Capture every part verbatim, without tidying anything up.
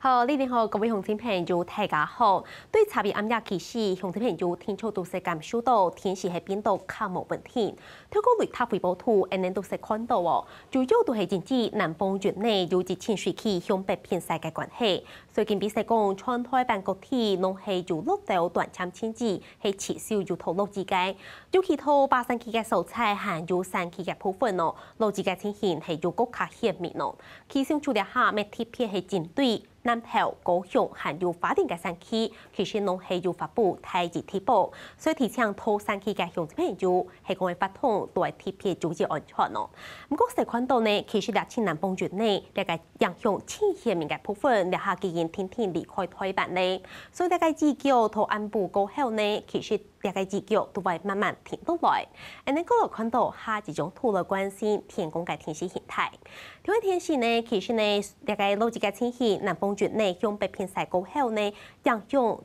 好，你好，各位鄉親朋友，大家好。對昨晡暗夜開始，鄉親朋友定著都識感受著天時係變到較無穩定。透過雷達預報圖，𠊎等都識看著哦，主要都係因為南方雲呢有一層水氣向北偏西个關係，所以今晡日講全臺灣各地攏係有落到短暫陣雨，係持續有大落雨个。尤其在北山區个所在，還有山區个部分哦，落雨个情形係有較加顯明哦。 氣象署這下乜特別係針對南投、高雄還有花蓮个山區，其實攏係有發布大雨特報，所以提醒在山區个鄉親朋友，係講會發通都愛特別注意安全哦。毋過，識看著呢，其實這陣南方雲呢，這个影響盡顯明个部分，這下既經定定離開臺灣了。所以這个雨腳在暗晡過後呢，其實 這个雨腳都會慢慢停落來。𠊎等過來看著下一張圖來關心天公个天時形態。天公个天時呢，其實呢，這个落雨个情形，南方雲呢向北偏西過後呢，影響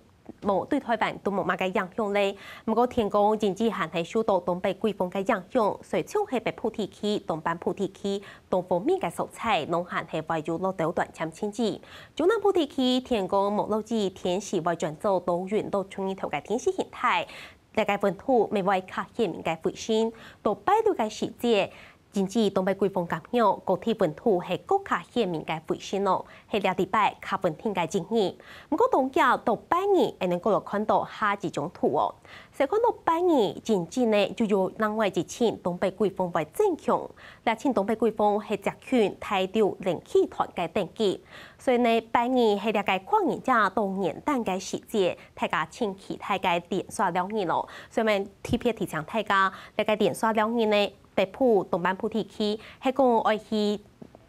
無對臺灣都無麼个影響了。毋過天公因為還係受著東北季風个影響，所以像係北部地區、東半部地區、 東方面个所在，攏還係會有落到短暫陣雨。中南部地區天光無落雨，天時會轉做多雲到出日頭个天時形態。這个溫度乜會較顯明个回升，到拜六个時節，因為東北季風干擾，各地溫度係較加顯明个回升哦，係這禮拜較穩定个一日。毋過當遽到拜二，𠊎等過來看著下一張圖哦。 識看著拜二，真正呢就有另外一層東北季風會增強。這層東北季風係接近大陸冷氣團个等級，所以呢，拜二係這个跨年夜到元旦个時節，大家盡期待个連續兩日囉。所以𠊎特別提醒大家，這个連續兩日呢，北部、東半部地區，係講愛去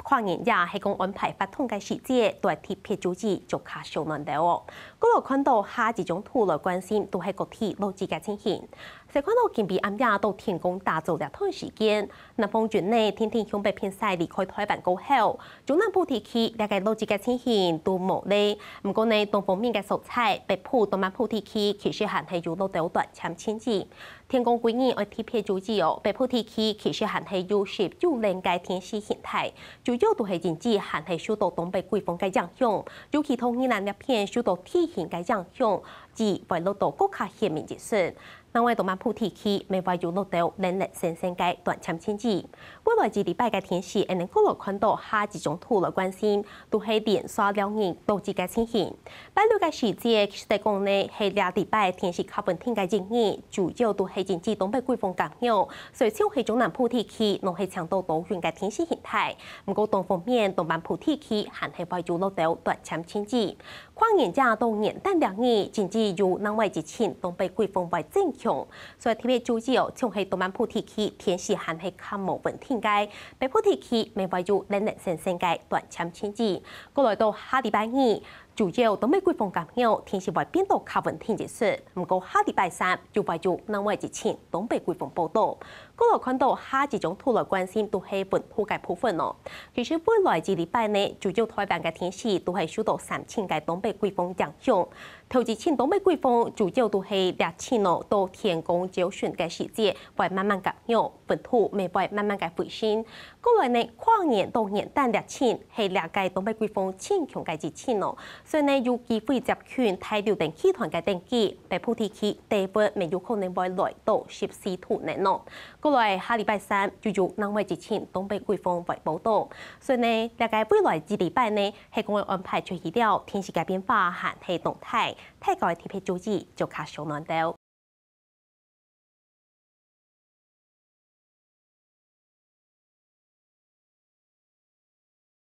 跨年夜係講安排活動个時節，都愛特別注意，著較燒暖兜哦。過來看著下一張圖來關心，都係各地落雨个情形。識看著今晡暗夜到天光打早這段時間，南方雲呢，定定向北偏西離開臺灣過後，中南部地區這个落雨个情形都無了。毋過呢，東方面个所在，北部、東半部地區其實還係有落到短暫陣雨。 天光歸日愛特別注意哦，北部地區其實還係有濕有冷个天時形態，主要都係因為還係受著東北季風个影響，尤其在宜蘭這片受著地形个影響，雨會落到較加顯明一息。另外，東半部地區乜會有落到零零星星个短暫陣雨。未來一禮拜个天時，𠊎等過來看著下一張圖來關心，都係連續兩日落雨个情形。 拜六个時節，其實來講呢，係這禮拜天時較穩定个一日，主要都係因為東北季風干擾，所以像係中南部地區，攏係晴到多雲个天時形態。毋過東方面，東半部地區還係會有落到短暫陣雨。跨年夜到元旦兩日，真正有另外一層東北季風會增強，所以特別注意哦，像係東半部地區，天時還係較無穩定个，北部地區乜會有零零星星个短暫陣雨。過來到下禮拜二， 主要東北季風干擾，天時會變到較穩定一息。毋過下禮拜三又會有另外一層東北季風報到。過來看著下一張圖來關心，都係溫度个部分哦。其實未來一禮拜呢，主要臺灣个天時都係受著三層个東北季風影響。頭一層東北季風主要都係這層哦，到天光朝晨个時節會慢慢干擾，溫度乜會慢慢个回升。 過來呢，跨年到元旦這層係這个東北季風盡強个一層哦，所以呢，有機會接近大陸冷氣團个等級，北部地區低溫乜有可能會來到十四度內哦。過來下禮拜三又有另外一層東北季風會報到，所以呢，這个未來一禮拜呢，係講會安排出去了，天時个變化還係動態，大家愛特別注意，著較燒暖兜。